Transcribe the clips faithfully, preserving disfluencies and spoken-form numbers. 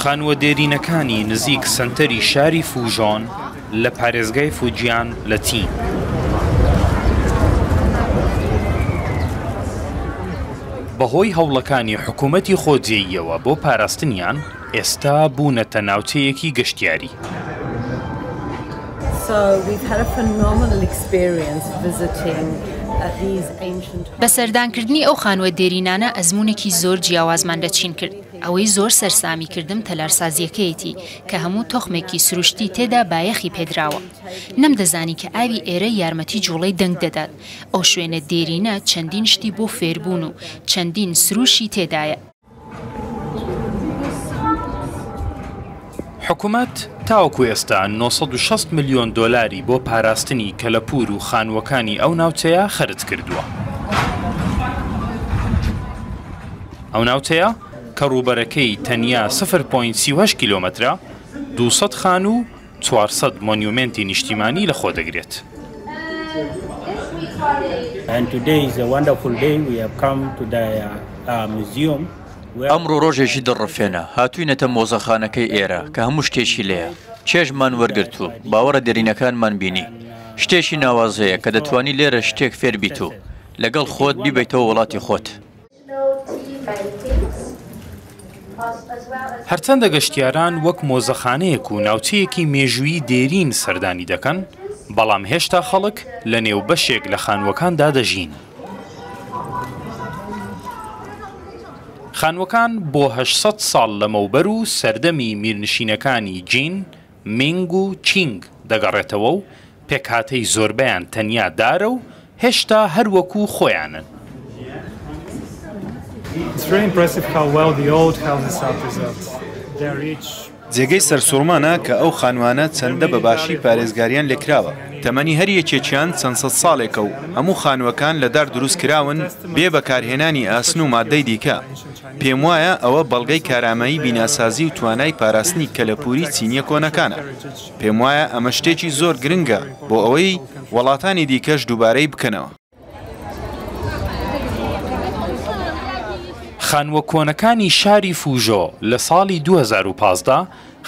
خانووە دێرینەکانی نزیک سەنتەری شاری فوژۆن لە پارێزگای فوجیان لە چین. بەهۆی هەوڵەکانی حکوومەتی خۆجێییەوە بۆ پاراستنیان، ئێستا بوونەتە ناوچەیەکی گەشتیاری. بە سەردانکردنی ئەو خانووە دێرینانە ئەزموونێکی زۆر جیاوازمان لە چین کرد. ئەوەی زۆر سەرسامی کردم تەلارسازیەکەیەتی کە هەموو تۆخمێکی سروشتی تێدا بایەخی پێدراوە. نەمدەزانی کە ئاوی ئێرە یارمەتی جوڵەی دەنگ دەدات. ئەو شوێنە دێرینە چەندین شتی بۆ فێربوون و چەندین سروشی تێدایە. حکوومەت تاوەکو ئێستا نۆ سەد و شەست ملیۆن دۆلاری بۆ پاراستنی کەلەپوور و خانووەکانی ئەو ناوچەیە خەرج کردووە. ئەو ناوچەیە کە ڕووبەرەکەی تەنیا سفر پۆینت سی و هەشت کیلۆمەترە، دوو سەد خانوو و چوار سەد مۆنیومێنتی نیشتیمانی لەخۆ دەگرێت. ئەمڕۆ ڕۆژێکی دڵڕفێنە، هاتووینەتە مۆزەخانەکەی ئێرە کە هەموو شتێکی لێیە. چێژمان وەرگرت و باوەڕە دێرینەکانمان بینی. شتێکی ناوازەیە کە دەتوانی لێرە شتێک فێربیت و لەگەڵ خۆت بیبەیتەوە وڵاتی خۆت. هەرچەندە گەشتیاران وەک مۆزەخانەیەک و ناوچەیەکی مێژوویی دێرین سەردانی دەکەن، بەڵام هێشتا خەڵک لە نێو بەشێک لە خانووەکاندا دەژین. خانووەکان بۆ هەشت سەد ساڵ لەمەوبەر و سەردەمی میرنشینەکانی جین، مینگ و چینگ دەگەڕێتەوە و پێکهاتەی زۆربەیان تەنیا دارە و هێشتا هەروەکو خۆیانن. جێگەی سەرسوڕمانە کە ئەو خانوانە چەندە بە باشی پارێزگاریان لێکراوە. تەمەنی هەر یەکێکیان چەند سەد ساڵێکە و هەموو خانووەکان لە دار دروست کراون بێ بەکارهێنانی ئاسن و مادەی دیکە. پێم وایە ئەوە بەڵگەی کارامەیی بیناسازی و توانای پاراستنی کەلەپوری چینیە کۆنەکانە. پێم وایە ئەمە شتێکی زۆر گرنگە بۆ ئەوەی وڵاتانی دیکەش دووبارەی بکەنەوە. خانووە کۆنەکانی شاری فوژۆ لە ساڵی دوو هەزار و پازدە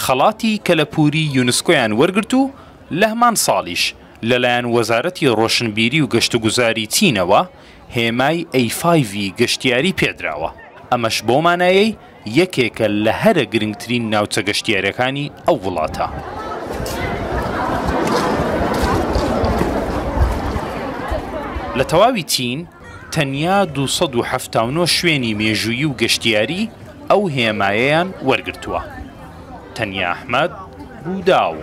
خەڵاتی کەلەپوری یونسکۆیان وەرگرت و لە هەمان ساڵیش لەلایەن وەزارەتی ڕۆشنبیری و گەشتوگوزاری چینەوە هێمای ئەی فایڤی گەشتیاری پێدراوە. ئەمەش بۆ مانایەی یەکێکە لە هەرە گرنگترین ناوچە گەشتیاریەکانی ئەو وڵاتە. لە تەواوی چین تەنیا دوو سەد و حەفتا و نۆ شوێنی مێژوویی و گەشتیاری ئەو هێمایەیان وەرگرتووە. تەنیا ئەحمەد، ڕووداو.